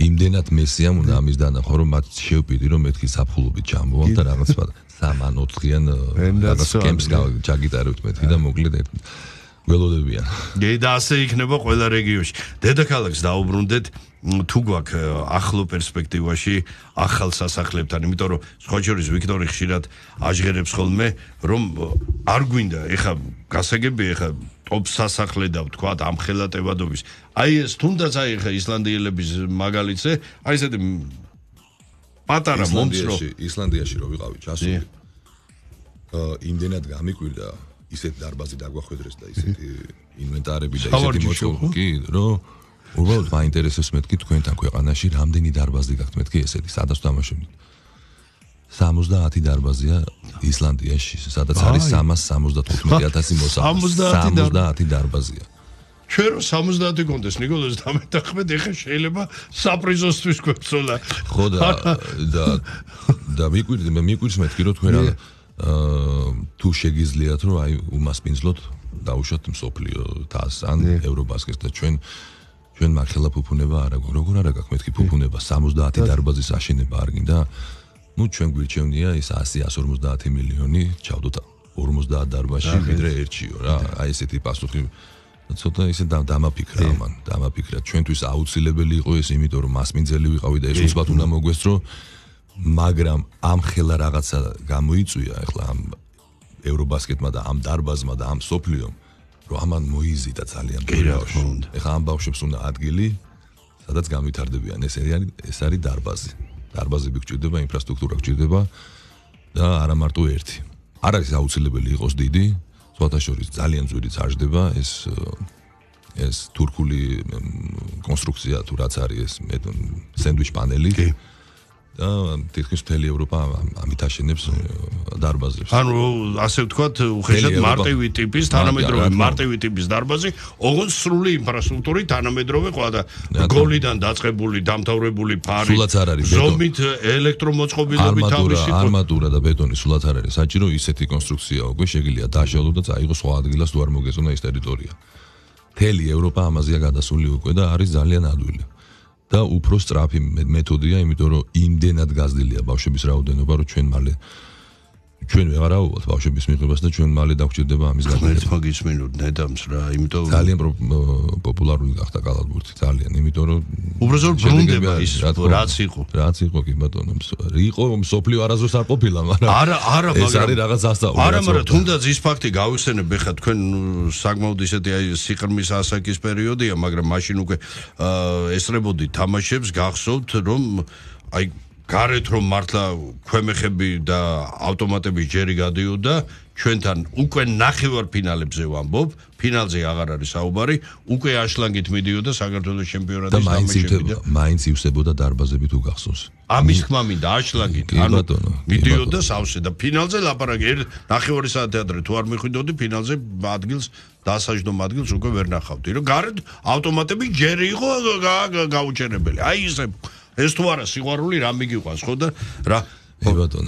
იმდენად მესიამ უნდა ამის დანახო, რომ მათ შევპირდი, რომ მეთქი საფხულობით ჩამოვამ და რაღაც სამან ოთხიან რაღაც კემპს ჩაგიტარებთ მეთქი და მოკლედ ველოდებიან. და ასე იქნება ყველა რეგიონში. დედაქალაქს დაუბრუნდეთ თუ გვაქვს ახლო პერსპექტივაში ახალ სასახლებთან, იმიტომ რომ სხვა შორის ვიქტორი ხშირად აჟღერებს ხოლმე, რომ არ გვინდა ეხა გასაგები ეხა ტოპ სასახლე და ვთქვათ ამ ხელატებადობის. აი ეს თუნდაც აი ეხა ისლანდიელების მაგალითზე, აი ესეთი პატარა მომცრო ისლანდიაში რო ვიყავი ჩასული. აა იმდენად გამიკვირდა ისეთ დარბაზი დაგვახვედრეს და ისეთი ინვენტარები და ისეთი მოწყობილი, რომ უბრალოდ მაინტერესებს მეთქი თქვენთან ქვეყანაში რამდენი დარბაზი გაქვთ მეთქი ესეთი, სადაც თამაშობთ. სამოცდაათი დარბაზია ისლანდიაში, სადაც არის სამას სამოცდათხუთმეტი ათასი მოსახლე. სამოცდაათი დარბაზია. ჩვენ რო სამოცდაათი კონდეს ნიკოლოზ დამეთახმეთ, ეხა შეიძლება საპრიზოსთვის გვეცოლა. ხო და და და მიკვირდი, მე მიკვირს მეთქი რომ თქვენ აა თუ შეგიძლიათ რომ აი უმასპინძლოთ დაუშვათ მსოფლიო თასს ან ევრობასკეტს და ჩვენ ჩვენ მაგხელა ფუფუნება არ აქვს. როგორ არ აქვს მეთქი ფუფუნება სამოცდაათი დარბაზის აშენება არ გინდა? ну ჩვენ გვირჩევნია ის ასი ასი ორმოცდაათი მილიონი ჩავდოთ ორმოცდაათ დარბაზში ვიდრე ერთშიო რა. აი ესეთი პასუხი ცოტა ისე დამაფიქრა ამან, დამაფიქრა. ჩვენთვის აუცილებელი იყო ეს, იმიტომ რომ მასპინძელი ვიყავი და ეს უცბად უნდა მოგვესწრო, მაგრამ ამ ხელა რაღაცა გამოიწვია ახლა ამ ევრობასკეტმა და ამ დარბაზმა და ამ სოფლიომ, რომ ამან მოიზიდა ძალიან ბავშვი. ეხლა ამ ბავშვებს უნდა ადგილი, სადაც განვითარდებიან. ეს არის ეს არის დარბაზი. დარბაზები გჭირდება, ინფრასტრუქტურა გჭირდება და არა მარტო ერთი. არ არის აუცილებელი იყოს დიდი, სხვათა შორის ძალიან ძვირი წარждდება ეს ეს თურქული კონსტრუქცია თუ რაც არის ეს სენდვიჩ პანელი. და თითქმის მთელი ევროპა ამით აშენებს დარბაზებს. ანუ ასე ვთქვათ, უხეშად მარტივი ტიპის, თანამედროვე მარტივი ტიპის დარბაზი, ოღონდ სრული ინფრასტრუქტურით, თანამედროვე ყველა და გოლიდან დაწყებული, დამთავრებული ფარი, ზომით, ელექტრომოწყობილობით თავისი არმატურა და ბეტონი სულაც არ არის საჭირო, ისეთი კონსტრუქცია უკვე შეგიძლია დააშალო და წაიღო სხვა ადგილას თუ არ მოგეწონა ეს ტერიტორია. მთელი ევროპა ამაზეა გადასული უკვე და არის ძალიან ადვილი. და უფრო სწრაფი მეთოდია, იმიტომ რომ იმდენად გაზრდილია ბავშვების რაოდენობა, რომ ჩვენ მალე ჩვენ ვეღარავთ ბავშვების მიღებას და ჩვენ მალე დაგვჭირდება ამის გაგრძელება. მაგის მინუტ ნედამს რა, იმიტომ ძალიან პოპულარული გახდა კალათბურთი, ძალიან, იმიტომ რომ უბრალოდ ბრუნდება ის რაც იყო. რაც იყო კი ბატონო, იყო მსოფლიო არასდროს არ ყოფილა, მაგრამ არა, არა, მაგრამ ეს არის რაღაც ასწავლი. არა, მაგრამ თუნდაც ის ფაქტი გავიხსენებ, ეხლა თქვენ საკმაოდ ისეთი აი სიყრმის ასაკის პერიოდია, მაგრამ მაშინ უკვე ესწრებოდი თამაშებს, გახსოვთ რომ აი გარეთ რომ მართლა ქვემეხები და ავტომატების ჯერი გადიოდა, ჩვენთან უკვე ნახევარფინალებზე ვამბობ, ფინალზე აღარ არის საუბარი, უკვე აშლანგით მიდიოდა საქართველოს ჩემპიონატის თამაშები და მაინც ივსებოდა დარბაზები თუ გახსოვს. ამის თქმა მინდა აშლანგით, ანუ მიდიოდა სავსე და ფინალზე ლაპარაკი ნახევარი საათი ადრე თუ არ მიხვიდოდი ფინალზე ადგილს დასაჯდომ ადგილს უკვე ვერ ნახავდი, რომ გარეთ ავტომატები ჯერი იყო გაუჩერებელი. აი ისე ეს თუ არა სიყვარული რა მიგიყვანს ხო და რა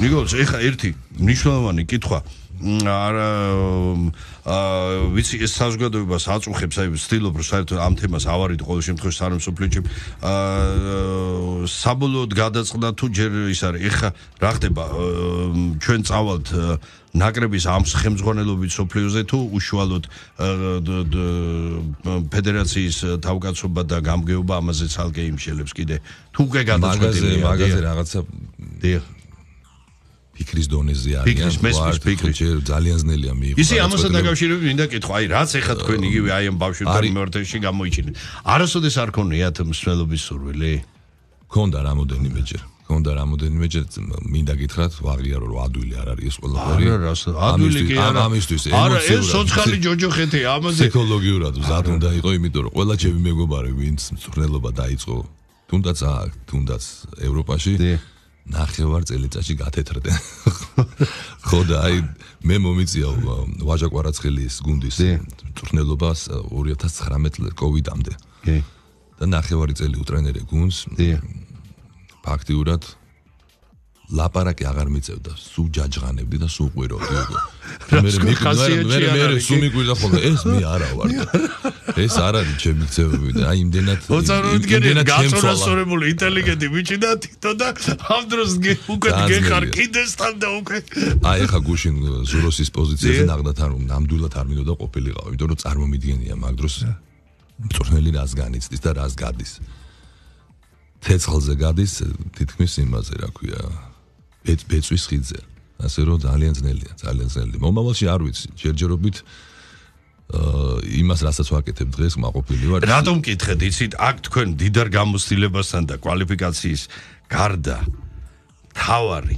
ნიკოლოზ ეხა ერთი მნიშვნელოვანი კითხვა არა ვიცი ეს საზოგადოებას აწუხებს აი ვცდილობ რომ საერთოდ ამ თემას ავარიდ ყოველ შემთხვევაში სამსოფლიო საბოლოოდ გადაწყდა თუ ჯერ ის არის ეხა რა ხდება ჩვენ წავალთ ნაკრების ამ ხელმძღვანელობით სოფლიოზე თუ უშუალოდ ფედერაციის თავკაცობა და გამგეობა ამაზე ცალკე იმშელებს კიდე თუ უკვე გადაწყვეტილია მაგაზე რაღაცა ფიქრის დონეზე არის ფიქრის მესმის ფიქრის ძალიან ძნელია მიიღო ისი ამასთან დაკავშირებით მინდა კითხვა აი რაც ეხა თქვენ იგივე აი ამ ბავშვებთან მიმართებაში გამოიჩინეთ არასოდეს არ ქონიათ მსვლელობის სურვილი ქონდა რამოდენიმეჯერ ქონდა რამოდენიმეჯერ მინდა გითხრათ ვაღიარო რომ ადვილი არ არის ეს ყველაფერი არა რას ადვილი კი არა ამისთვის არა ეს სოციალური ჯოჯოხეთი ამაზე ფსიქოლოგიურად ზად უნდა იყო იმიტომ რომ ყველა ჩემი მეგობარი ვინც მწვრთნელობა დაიწყო თუნდაც აქ თუნდაც ევროპაში ნახევარ წელიწადში გათეთრდნენ. ხო და აი მე მომიწია ვაჟა კვარაცხელის გუნდის მწვრთნელობას ორი ათას ცხრამეტ კოვიდამდე. კი. და ნახევარი წელი უტრენერე გუნდს. ფაქტიურად ლაპარაკი აღარ მიწევდა, სულ ჯაჯღანებდი და სულ ყვიროვდი უკვე. მე მე მე მე სულ მიგვიდა ხოლმე ეს მე არა ვარ. ეს არ არის ჩემი ქცევები და აი იმდენად იმდენად გაწონასწორებული ინტელიგენტი ბიჭი და თითო და ამ დროს უკვე გეხარ კიდესთან და უკვე აი ახლა გუშინ ზუროსის პოზიციაზე ნახდათ არ ნამდვილად არ მინდოდა ყოფილიყავ, იმიტომ რომ წარმომიდგენია მაგ დროს მწვრთნელი რას განიცდის და რას გადის. ცეცხლზე გადის თითქმის იმაზე რა ქვია ბეწვის ხიდზე. ასე რომ ძალიან ძნელია, ძალიან ძნელია. მომავალში არ ვიცი, ჯერჯერობით აა იმას რასაც ვაკეთებ დღეს მაყოფილი ვარ. რატომ მკითხეთ, იცით, აქ თქვენ დიდარ გამოცდილებასთან და კვალიფიკაციის გარდა თავარი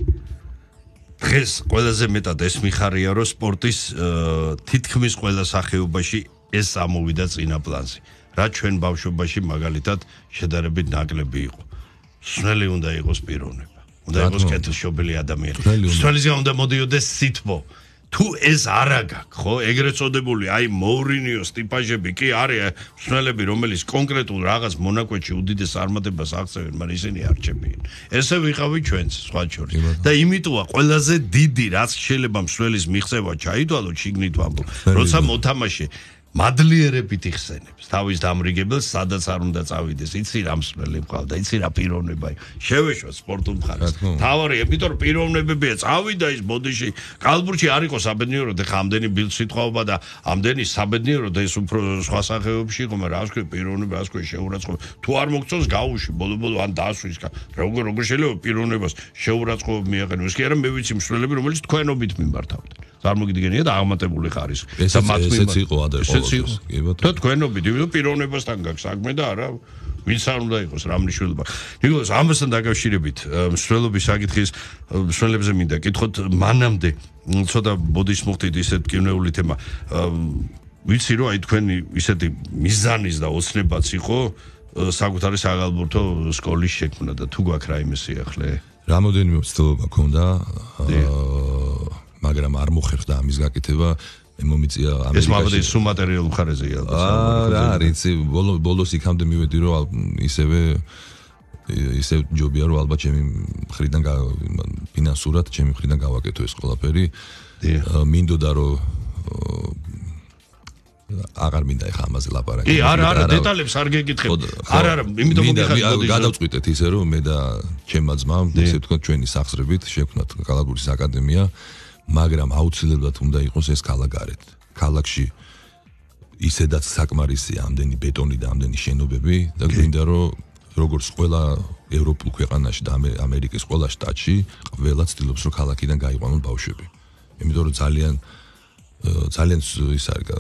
დღეს ყველაზე მეტად ეს მიხარია, რომ სპორტის თითქმის ყველა სახეობაში ეს ამოვიდა წინა პლანზე. რა ჩვენ ბავშვობაში მაგალითად შედარებით ნაკლები იყო. სნელი უნდა იყოს პიროვნება. უნდა იყოს კეთილშობილი ადამიანი. მსვლელისგან უნდა მოდიოდეს სითბო. თუ ეს არა გაქვს, ხო, ეგრეთ წოდებული, აი მოურინიოს ტიპაჟები კი არის მსვლელები, რომელიც კონკრეტულ რაღაც მონაკვეთში უდიდეს წარმატებას აღწევენ, მაგრამ ისინი არ რჩებიან. ესე ვიყავი ჩვენც, სხვა შორის. და იმიტომა ყველაზე დიდი რაც შეიძლება მსვლელის მიღწევა ჩაიდვალო, შიგნით ვამბობ, როცა მოთამაშე მადლიერებით იხსენებს თავის დამრიგებელს, სადაც არ უნდა წავიდეს. იცი რა მსვლელი მყავდა, იცი რა პიროვნება. შევეშვა სპორტულ მხარეს. თავარი, იმიტომ რომ პიროვნებებია, წავიდა ის ბოდიში, კალბურში არ იყო საბედნიერო და ამდენი ბილდ სიტყვაობა და ამდენი საბედნიერო და ეს უფრო სხვა სახეობებში იყო, მაგრამ რა ვთქვი, პიროვნება, რა ვთქვი, შეურაცხყოფა. თუ არ მოგწონს გაუში, ბოლო-ბოლო ან დასვის. როგორ როგორ შეიძლება პიროვნებას შეურაცხყოფა მიაყენოს? კი არა, მე ვიცი მსვლელები, რომელიც თქვენობით მიმართავდნენ. წარმოგიდგენია და აღმატებული ხარისხი. და მათ ესეც იყო ადერყოლოს. და თქვენობით, იმიტომ პიროვნებასთან გაქვს საქმე და არა ვინც არ უნდა იყოს რა მნიშვნელობა. ნიკოლას ამასთან დაკავშირებით მსვლელობის საკითხის მსვლელებზე მინდა კითხოთ მანამდე ცოტა ბოდის მოხდით ისეთ კინეული თემა. ვიცი რომ აი თქვენი ისეთი მიზანის და ოცნებაც იყო საკუთარი საგალბურთო სკოლის შექმნა და თუ გვაქვს რაიმე სიახლე? რამოდენიმე ცდილობა მქონდა მაგრამ არ მოხერხდა ამის გაკეთება. მომიწია ამერიკაში. ეს მაბადე სულ მატერიალურ მხარეზეა ალბათ. აა რა არის, ბოლოს იქამდე მივედი რომ ისევე ისე ჯობია რომ ალბათ ჩემი მხრიდან ფინანსურად ჩემი მხრიდან გავაკეთო ეს ყველაფერი. მინდოდა რომ აღარ მინდა ეხა ამაზე ლაპარაკი. კი, არა, არა, დეტალებს არ გეკითხებ. არა, არა, იმიტომ მოგიხარ გადავწყვიტეთ ისე რომ მე და ჩემმა ძმამ, ესე ვთქვათ, ჩვენი სახსრებით შევქმნათ კალაბურის აკადემია. მაგრამ აუცილებლად უნდა იყოს ეს ქალაქგარეთ. ქალაქში ისედაც საკმარისია ამდენი ბეტონი და ამდენი შენობები და გვინდა რომ როგორც ყველა ევროპულ ქვეყანაში და ამერიკის ყველა შტატში ყველა ცდილობს რომ ქალაქიდან გაიყვანონ ბავშვები. იმიტომ რომ ძალიან ძალიან ის არის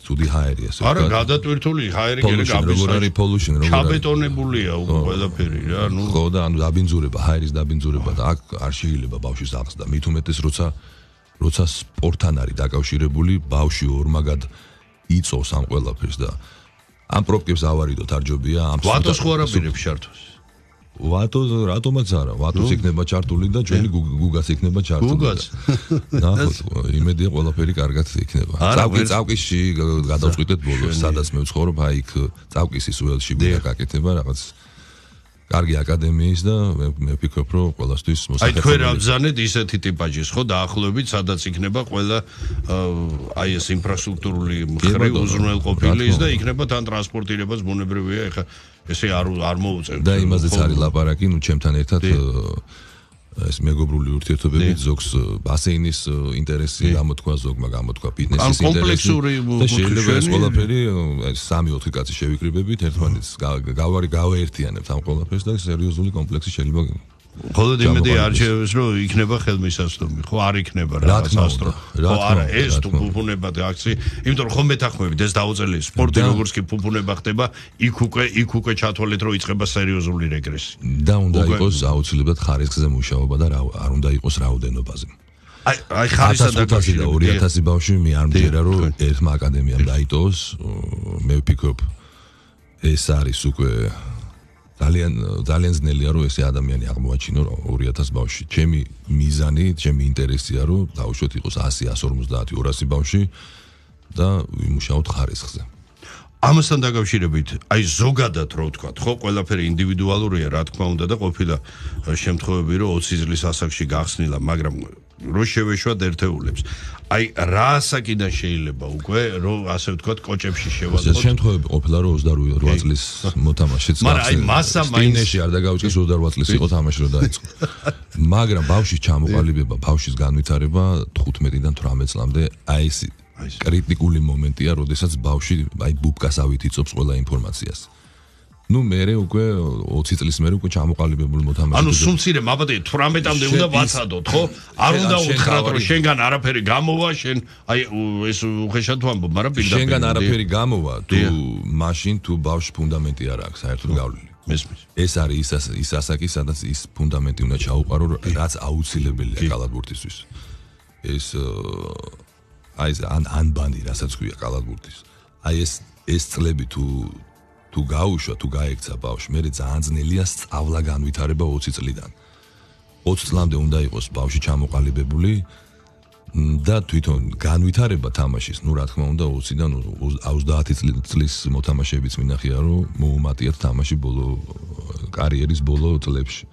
ცუდი ჰაერია ასე. არა, გადატვირთული ჰაერი გერე გაბის. როგორ არის პოლუშენ, როგორ არის. ჩაბეტონებულია უკვე ყველაფერი რა, ნუ. ხო და ანუ დაბინძურება, ჰაერის დაბინძურება და აქ არ შეიძლება ბავშვის აღზრდა. მით უმეტეს როცა როცა სპორტთან არის დაკავშირებული, ბავშვი ორმაგად იწოვს ამ ყველაფერს და ამ პრობლემებს ავარიდოთ არ ჯობია ამ ვატოს ხო არ აპირებს ჩართვას. ვატო რატომაც არა, ვატოს იქნება ჩართული და ჩვენი გუგაც იქნება ჩართული. გუგაც. ნახოთ, იმედია ყველაფერი კარგად იქნება. წავკი წავკიში გადავწყვიტეთ ბოლოს, სადაც მე ვცხოვრობ, აი იქ წავკისის უელში გაკეთება რაღაც კარგი აკადემიის და მე ვფიქრობ, რომ ყველასთვის მოსახერხებელი. აი თქვენ აბზანეთ ისეთი ტიპაჟის, ხო, დაახლოებით, სადაც იქნება ყველა აი ეს ინფრასტრუქტურული მხრივ უზრუნველყოფილი და იქნება თან ტრანსპორტირებაც ბუნებრივია, ეხა ესე არ არ მოუწევთ. და იმაზეც არის ლაპარაკი, ნუ ჩემთან ერთად ეს მეგობრული ურთიერთობები ზოგს ბასეინის ინტერესი გამოთქვა, ზოგმა გამოთქვა ფიტნესის ინტერესი. და შეიძლება ეს ყველაფერი სამი ოთხი კაცი შევიკრიბებით, ერთმანეთს გავარი გავაერთიანებთ ამ ყველაფერს და სერიოზული კომპლექსი შეიძლება ხოლოდ იმედი არჩევს რომ იქნება ხელმისაწვდომი, ხო არ იქნება რაღაც ასტრო. ხო არა, ეს თუ ფუფუნება და აქცი, იმიტომ რომ ხომ მეთანხმებით ეს დაუწელი სპორტი როგორც კი ფუფუნება ხდება, იქ უკვე იქ უკვე ჩათვალეთ რომ იწყება სერიოზული რეგრესი. და უნდა იყოს აუცილებლად ხარისხზე მუშაობა და არ უნდა იყოს რაოდენობაზე. აი აი ხარისხსა და ორი ათასი ბავშვი მე არ მჯერა რომ ერთმა აკადემიამ დაიტოვოს, მე ვფიქრობ ეს არის უკვე ძალიან ძალიან ძნელია რომ ესე ადამიანი აღმოაჩინო ორი ათასი ბავშვი. ჩემი მიზანი, ჩემი ინტერესია რომ დაუშვოთ იყოს ასი, εκατს ორმოცდაათი, ორასი ბავშვი და ვიმუშაოთ ხარისხზე. ამასთან დაკავშირებით, აი ზოგადად რო ვთქვათ, ხო, ყველაფერი ინდივიდუალურია, რა თქმა უნდა და ყოფილა შემთხვევები რომ ოცი წლის ასაკში გახსნილა, მაგრამ რო შევეშვათ ერთეულებს. აი რა ასაკიდან შეიძლება უკვე რომ ასე ვთქვათ კოჭებში შევაწყოთ. ეს შემთხვევები ყოფილა რომ ოცდაორი წლის მოთამაშეც გახსნილა. მაგრამ აი მასა მაინში არ დაგავიწყეს ოცდაორი წლის იყო თამაში რომ დაიწყო. მაგრამ ბავშვის ჩამოყალიბება, ბავშვის განვითარება თხუთმეტიდან თვრამეტ წლამდე აი ეს კრიტიკული მომენტია, როდესაც ბავშვი აი ბუბკასავით იწობს ყველა ინფორმაციას. ნუ მე უკვე ოცი წლის მერე უკვე ჩამოყალიბებული მოთამაშე. ანუ სუმცირე მაბადე თვრამეტამდე უნდა ვაცადოთ, ხო? არ უნდა უთხრათ რომ შენგან არაფერი გამოვა, შენ აი ეს უხეშად ვამბობ, მაგრამ პირდაპირ შენგან არაფერი გამოვა, თუ მაშინ თუ ბავშვი ფუნდამენტი არ აქვს საერთოდ გავლილი. მესმის. ეს არის ის ის ასაკი, სადაც ის ფუნდამენტი უნდა ჩაუყარო, რაც აუცილებელია კალათბურთისთვის. ეს აი ეს ან ანბანი, რასაც ქვია კალათბურთის. აი ეს ეს წლები თუ თუ გაუშვა, თუ გაექცა ბავშვი, მე ძალიან ძნელია სწავლა განვითარება ოცი წლიდან. ოცი წლამდე უნდა იყოს ბავშვი ჩამოყალიბებული და თვითონ განვითარება თამაშის, ну რა თქმა უნდა ოციდან ოცდაათი წლის მოთამაშეებიც მინახია, რომ მოუმატიათ თამაში ბოლო კარიერის ბოლო წლებში.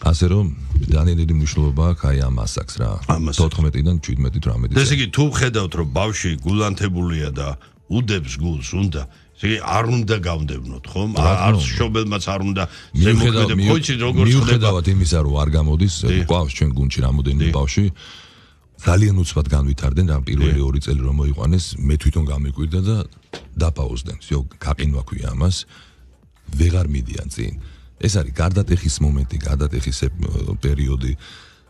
ასე რომ დანიელი მნიშვნელობა აქვს აი ამ ასაკს რა. თოთხმეტიდან შვიდმეტი თვრამეტი. ესე იგი თუ ხედავთ რომ ბავშვი გულანთებულია და უდებს გულს უნდა ესე იგი არ უნდა გავდევნოთ ხომ? არ შობელმაც არ უნდა ზემოქმედებ ხოიცი როგორ ხდება. მიუხედავად იმისა რომ არ გამოდის ყავს ჩვენ გუნდში რამოდენიმე ბავშვი ძალიან უცბად განვითარდნენ რა პირველი ორი წელი რომ მოიყვანეს მე თვითონ გამიკვირდა და დაპაუზდნენ. всё გაყინვა ქვია ამას. ვეღარ მიდიან წინ. ეს არის გარდატეხის მომენტი, გარდატეხის პერიოდი,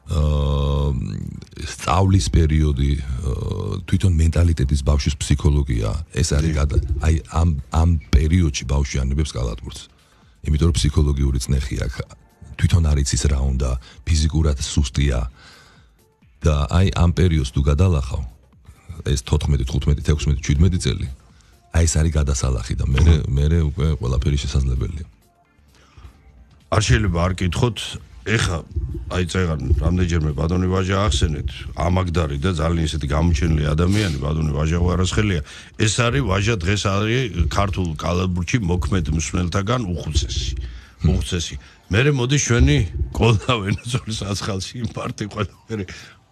აა სწავლის პერიოდი, თვითონ მენტალიტეტის ბავშვის ფსიქოლოგია, ეს არის აი ამ ამ პერიოდში ბავშვი ანებებს კალათბურთს. იმიტომ რომ ფსიქოლოგიური წნეხი აქვს. თვითონ არ იცის რა უნდა, ფიზიკურად სუსტია. და აი ამ პერიოდს თუ გადალახავ, ეს თოთხმეტი, თხუთმეტი, ექვსმეტი, შვიდმეტი წელი, აი ეს არის გადასალახი და მე მე უკვე ყველაფერი შესაძლებელია. არ შეიძლება არ კითხოთ, ეხა აი წეგან რამდენჯერმე ბატონი ვაჟა ახსენეთ, ამაგდარი და ძალიან ისეთი გამოჩენილი ადამიანი ბატონი ვაჟა ვარასხელია. ეს არის ვაჟა დღეს არის ქართულ კალათბურთში მოქმედ მსმენელთაგან უხუცესი. უხუცესი. მერე მოდი ჩვენი კოლა ვენესუელის აცხალში იმპარტი ყველა მერე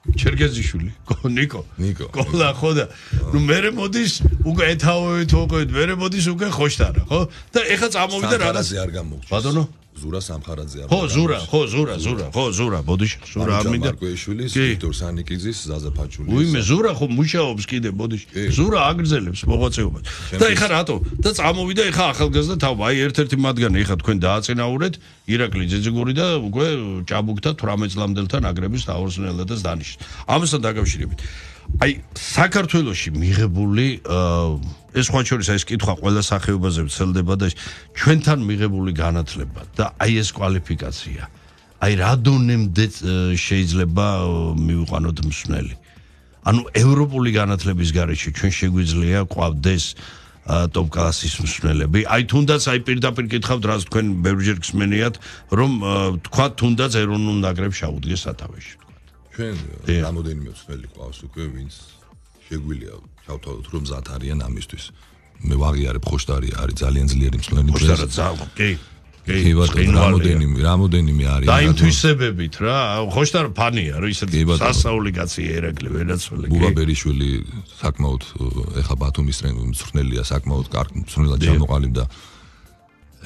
ჩერგეზიშვილი, ნიკო. ნიკო. კოლა ხო და ნუ მერე მოდის უკვე ეთაოვეთ უკვე მერე მოდის უკვე ხოშტარა, ხო? და ეხა წამოვიდა რაღაც არ გამოგჭის. ბატონო ზურა სამხარაძე არ. ხო, ზურა, ხო, ზურა, ზურა, ხო, ზურა, ბოდიში, ზურა არ მინდა. მარკვეიშვილის, ვიქტორ სანიკიძის, ზაზა ფაჩულის. უიმე, ზურა ხო მუშაობს კიდე, ბოდიში. ზურა აგრძელებს მოღვაწეობას. და ეხა რატო? და წამოვიდა ეხა ახალგაზრდა თავ, აი ერთ-ერთი მათგანი ეხა თქვენ დააწინაურეთ, ირაკლი ძეძიგური და უკვე ჭაბუკთა თვრამეტ წლამდელთან აგრების თავორსნელადაც დანიშნეს. ამასთან დაკავშირებით აი საქართველოში მიღებული ეს სხვა შორის ეს კითხვა ყველა სახეობაზე ვრცელდება და ჩვენთან მიღებული განათლება და აი ეს კვალიფიკაცია აი რა დონემდე შეიძლება მივიყვანოთ მსმენელი ანუ ევროპული განათლების გარეშე ჩვენ შეგვიძლია ყვავდეს ტოპ კლასის მსმენელები აი თუნდაც აი პირდაპირ კითხავთ რას თქვენ ბევრჯერ გსმენიათ რომ თქვა თუნდაც ეროვნულ ნაკრებს შეუდგეს სათავეში ჩვენ რამოდენიმე მსმენელი ყავს უკვე ვინც შეგვიძლია ჩავთვალოთ რომ მზად არიან ამისთვის მე ვაღიარებ ხოშტარი არის ძალიან ძლიერი მსმენელი ხოშტარა ძაღლ კი კი ბატონო რამოდენიმე რამოდენიმე არის და იმ თვისებებით რა ხოშტარ ფანია რა ისეთი სასაული კაცი ერაკლი ვერაცველი ბუბა ბერიშვილი საკმაოდ ეხა ბათუმის მსმენელია საკმაოდ კარგი მსმენელად ჩამოყალიბდა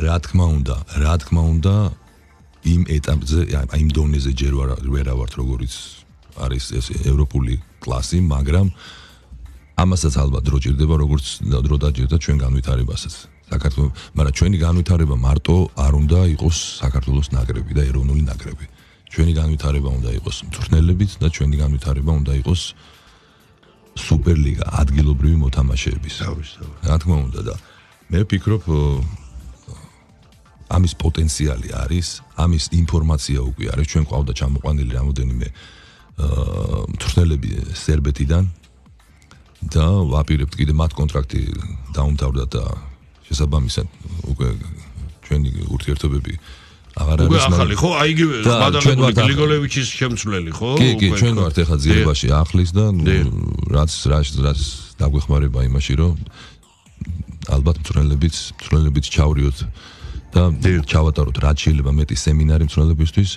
რა თქმა უნდა რა თქმა უნდა იმ ეტაპზე აი იმ დონეზე ჯერ ვერ ავართ როგორიც არის ეს ევროპული კლასი მაგრამ ამასაც ალბათ დრო ჭირდება როგორც დრო დაჭირდა ჩვენ განვითარებასაც საქართველოს მაგრამ ჩვენი განვითარება მარტო არ უნდა იყოს საქართველოს ნაკრები და ეროვნული ნაკრები ჩვენი განვითარება უნდა იყოს მწვრთნელებით და ჩვენი განვითარება უნდა იყოს სუპერლიგა ადგილობრივი მოთამაშეების რა თქმა უნდა და მე ვფიქრობ ამის პოტენციალი არის, ამის ინფორმაცია უკვე არის, ჩვენ ყავდა ჩამოყვანილი რამოდენიმე აა მწვრთნელები სერბეთიდან და ვაპირებთ კიდე მათ კონტრაქტი დაუმთავრდა და შესაბამისად უკვე ჩვენი ურთიერთობები აღარ არის მაგრამ ახალი ხო აი იგივე მადალებული გლიგოლევიჩის შემცვლელი ხო კი კი ჩვენ ვართ ეხლა ძიებაში ახლის და რაც რაც რაც დაგვეხმარება იმაში რომ ალბათ მწვრთნელებიც მწვრთნელებიც ჩავრიოთ და ჩავატაროთ რაც შეიძლება მეტი სემინარი მწვრთნელებისთვის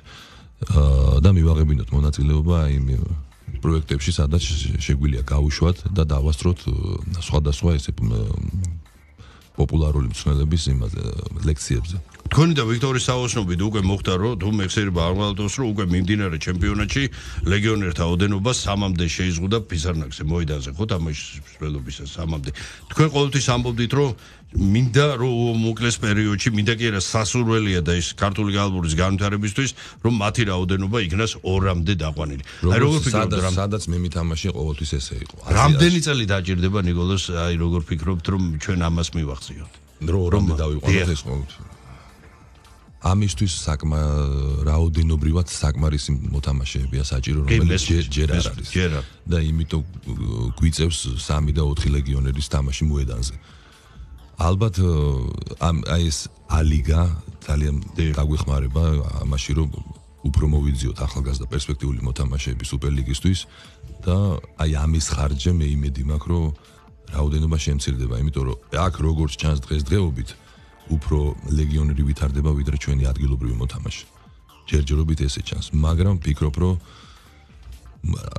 და მივაღებინოთ მონაწილეობა იმ პროექტებში სადაც შეგვიძლია გავუშვათ და დავასწროთ სხვადასხვა ესე პოპულარული მწვრთნელების იმაზე ლექციებზე თქვენი და ვიქტორის საოცნობით უკვე მოხდა რომ თუ მეხსიერება არ მალტოს რომ უკვე მიმდინარე ჩემპიონატში ლეგიონერთა ოდენობა სამამდე შეიზღუდა ფიზარნაკზე მოედანზე ხო თამაშის მსვლელობისას სამამდე თქვენ ყოველთვის ამბობდით რომ მინდა რომ მოკლეს პერიოდში მინდა კი არა სასურველია და ის ქართული კალათბურთის განვითარებისთვის რომ მათი რაოდენობა იქნას ორამდე დაყვანილი აი როგორ ფიქრობთ რომ სადაც მე მითამაშე ყოველთვის ესე იყო რამდენი წელი დაჭირდება ნიკოლოს აი როგორ ფიქრობთ რომ ჩვენ ამას მივახციოთ დრო რომდე დავიყვანოთ ეს ყოველთვის ამისთვის საკმა რაოდენობრივად საკმარისი მოთამაშეებია საჭირო რომელიც ჯერ არ არის და იმიტომ გვიწევს სამი და ოთხი ლეგიონერის თამაში მოედანზე ალბათ აი ეს ალიგა ძალიან გაგვეხმარება ამაში რომ უფრო მოვიძიოთ ახალგაზრდა პერსპექტიული მოთამაშეები სუპერლიგისთვის და აი ამის ხარჯზე მე იმედი მაქვს, რომ რაოდენობა შემცირდება, იმიტომ რომ აქ როგორც ჩანს დღესდღეობით უფრო ლეგიონერი ვითარდება ვიდრე ჩვენი ადგილობრივი მოთამაშე. ჯერჯერობით ესე ჩანს, მაგრამ ვფიქრობ, რომ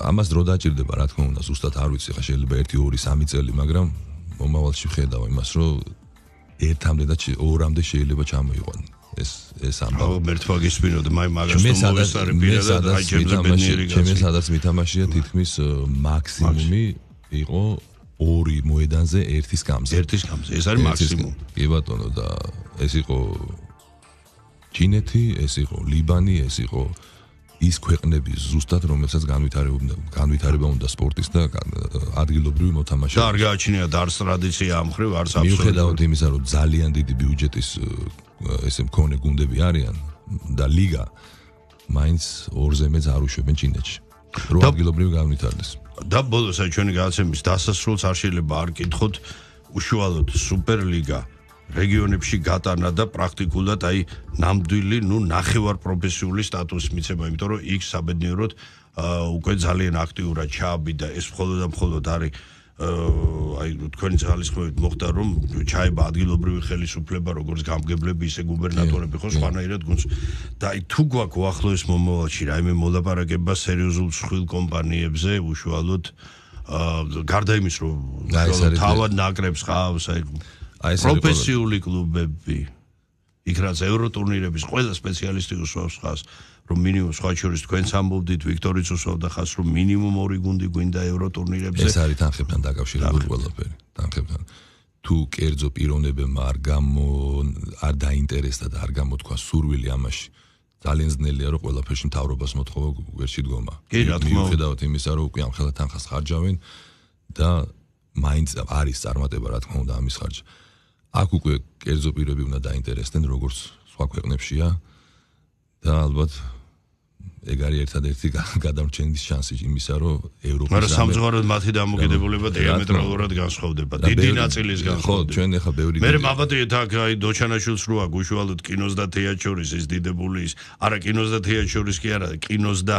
ამას დრო დაჭირდება, რა თქმა უნდა, ზუსტად არ ვიცი, ხა შეიძლება ერთი, ორი, სამი წელი, მაგრამ მომავალში ვხედავ იმას, რომ ერთამდე და ორამდე შეიძლება ჩამოიყვანო. ეს ეს ამბავი. აუ, მერტვაგის პიროდი, მაი მაგას თუ მოვესწარი პირადად, აი ჩემზე ბედნიერი გასული. ჩემი სადაც მითამაშია თითქმის მაქსიმუმი იყო ორი მოედანზე ერთის გამზე. ერთის გამზე. ეს არის მაქსიმუმი. კი ბატონო და ეს იყო ჩინეთი, ეს იყო ლიბანი, ეს იყო ის ქვეყნები ზუსტად რომელსაც განვითარებობდა განვითარება უნდა სპორტის და ადგილობრივი მოთამაშეების. და არ გააჩნია დარს ტრადიცია ამ ხრივ არც აბსოლუტურად. მიუხედავად იმისა, რომ ძალიან დიდი ბიუჯეტის ესე მქონე გუნდები არიან და ლიგა მაინც ორზე მეც არ უშვებენ ჩინეთში. რო ადგილობრივი განვითარდეს. და ბოლოს აი ჩვენი გადაცემის დასასრულს არ შეიძლება არ კითხოთ უშუალოდ სუპერლიგა რეგიონებში გატანა და პრაქტიკულად აი ნამდვილი, ნუ ნახევარ პროფესიული სტატუსი მიცემა, იმიტომ რომ იქ საბედნიეროდ უკვე ძალიან აქტიურად ჩააბიდა ეს მხოლოდ და მხოლოდ არის აი თქვენი ძალისხმევით მოხდა რომ ჩაება ადგილობრივი ხელისუფლება როგორც გამგებლები ისე გუბერნატორები ხო სხვანაირად გუნდს და აი თუ გვაქვს უახლოეს მომავალში რაიმე მოლაპარაკება სერიოზულ მსხვილ კომპანიებზე უშუალოდ გარდა იმის რომ თავად ნაკრებს ყავს აი პროფესიული კლუბები იქ რაც ევროტურნირების ყველა სპეციალისტი უსვავს ხას რომ მინიმუმ სხვა შორის თქვენს ამბობდით ვიქტორიც უსვავდა ხას რომ მინიმუმ ორი გუნდი გვინდა ევროტურნირებზე ეს არის თანხებთან დაკავშირებული ყველაფერი თანხებთან თუ კერძო პიროვნებებმა არ გამო არ დაინტერესდა და არ გამოთქვა სურვილი ამაში ძალიან ძნელია რომ ყველაფერში მთავრობას მოთხოვა ვერ შედგომა მიუხედავად იმისა რომ უკვე ამ ხელა თანხას ხარჯავენ და მაინც არის წარმატება რა თქმა უნდა ამის ხარჯზე აქ უკვე კერძო პირები უნდა დაინტერესდნენ როგორც სხვა ქვეყნებშია და ალბათ ეგ არის ერთადერთი გადამრჩენის შანსი იმისა რომ ევროპის მაგრამ სამწუხაროდ მათი დამოკიდებულება დიამეტრალურად განსხვავდება დიდი ნაწილის განსხვავდება ხო ჩვენ ახლა ბევრი მე მაბადეთ აქ აი დოჩანაშვილს რო აქ უშუალოდ კინოს და თეატრის ის დიდებული ის არა კინოს და თეატრის კი არა კინოს და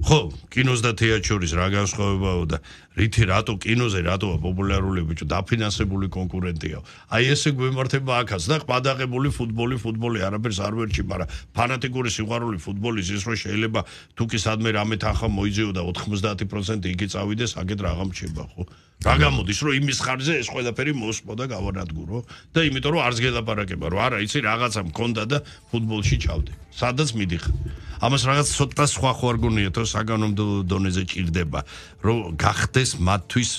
ხო კინოს და თეატრის რა განსხვავებაო და რითი რატო კინოზე რატოა პოპულარული ბიჭო დაფინანსებული კონკურენტია აი ესე გვემართება აქაც და ყბადაღებული ფუტბოლი ფუტბოლი არაფერს არ ვერჩი მაგრამ ფანატიკური სიყვარული ფუტბოლის ის რო შეიძლება თუ კი სადმე რამე თანხა მოიძიო და ოთხმოცდაათი პროცენტი იგი წავიდეს აგეთ რაღა მჩება ხო რა გამოდის რომ იმის ხარჯზე ეს ყველაფერი მოსპო და გავანადგურო და იმიტომ რომ არც გელაპარაკება რომ არა იცი რაღაცა მქონდა და ფუტბოლში ჩავდე სადაც მიდიხარ ამას რაღაც ცოტა სხვა ხო არ გონია თუ საგანონმდებლო დონეზე ჭირდება რომ გახდეს მათთვის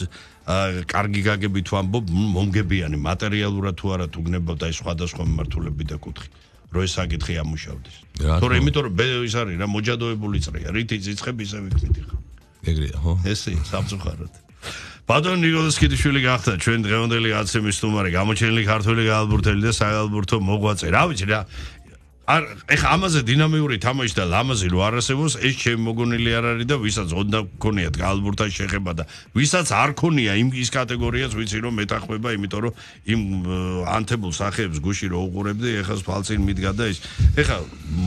კარგი გაგები თუ ამბობ მომგებიანი მატერიალურად თუ არა თუ გნებავთ აი სხვადასხვა მიმართულები და კუთხი რომ ეს საკითხი ამუშავდეს თორე იმიტომ რომ ის არის რა მოჯადოებული წრეა რითი ძიცხები ისე ვიქმით ხა ეგრეა ხო ესე სამწუხაროდ ბატონ ნიკოლოზ კიდიშვილი გახდა ჩვენ დღევანდელი გადაცემის სტუმარი გამოჩენილი ქართველი გაალბურთელი და საალბურთო მოღვაწე რა ვიცი რა არ ეხა ამაზე დინამიური თამაში და ლამაზი რო არ არსებობს ეს ჩემი მოგონილი არ არის და ვისაც უნდა გქონიათ გაალბურთაში შეხება და ვისაც არ ქონია იმ ის კატეგორიას ვიცი რომ მეტახმება იმიტომ რომ იმ ანთებულ სახეებს გუში რო უყურებდი ეხა ფალცინ მიდგა და ის ეხა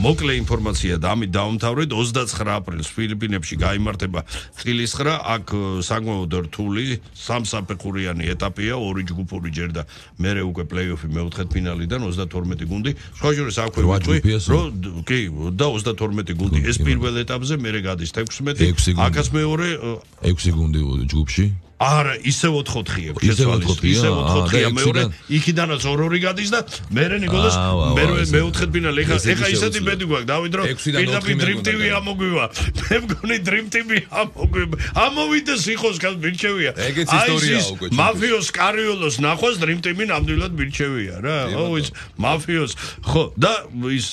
მოკლე ინფორმაცია და ამით დავამთავრეთ ოცდაცხრა აპრილს ფილიპინებში გაიმართება წილისხრა აქ საკმაოდ რთული სამსაფეხურიანი ეტაპია ორი ჯგუფური ჯერ და მერე უკვე პლეიოფი მეოთხედფინალიდან ოცდათორმეტი გუნდი სხვა შორის აქვე რო კი და ოცდათორმეტი გუნდი ეს პირველ ეტაპზე მერე გადის თექვსმეტი აქაც მეორე ექვსი გუნდი ჯგუფში არა ისე ოთხ-ოთხია შეცვალეს ისე ოთხ-ოთხია მეორე იქიდანაც ორ-ორი გადის და მერე ნიკოლას მეოთხედფინალი ეხა ეხა ისეთი ბედი გვაქვს დავით რომ პირდაპირ Dream ტი ვი ამოგვივა მე მგონი Dream ტი ვი ამოგვივა ამოვიდეს იყოს გას მირჩევია ეგეც ისტორია უკვე მაფიოს კარიოლოს ნახვას Dream ტიმი ნამდვილად მირჩევია რა ო ის მაფიოს ხო და ის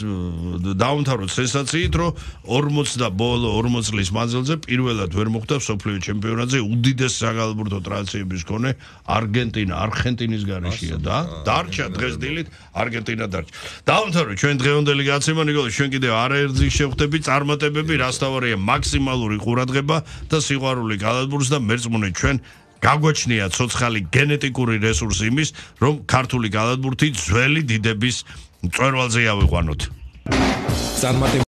დაუნთავროთ სენსაციით რომ ორმოც და ბოლო ორმოც წლის მანძილზე პირველად ვერ მოხდა მსოფლიო ჩემპიონატზე უდიდეს საალბურთო ტრადიციების მქონე არგენტინა არხენტინის გარეშეა და დარჩა დღეს დილით არგენტინა დარჩა დაამთავრეთ ჩვენ დღევანდელი გადაცემა ნიკოლოზ ჩვენ კიდევ არაერთი შევხვდები წარმატებები რასთავარია მაქსიმალური ყურადღება და სიყვარული გაალბურთს და მერწმუნე ჩვენ გაგვაჩნია ცოცხალი გენეტიკური რესურსი იმის რომ ქართული გაალბურთი ძველი დიდების მწვერვალზე ავიყვანოთ წარმატებები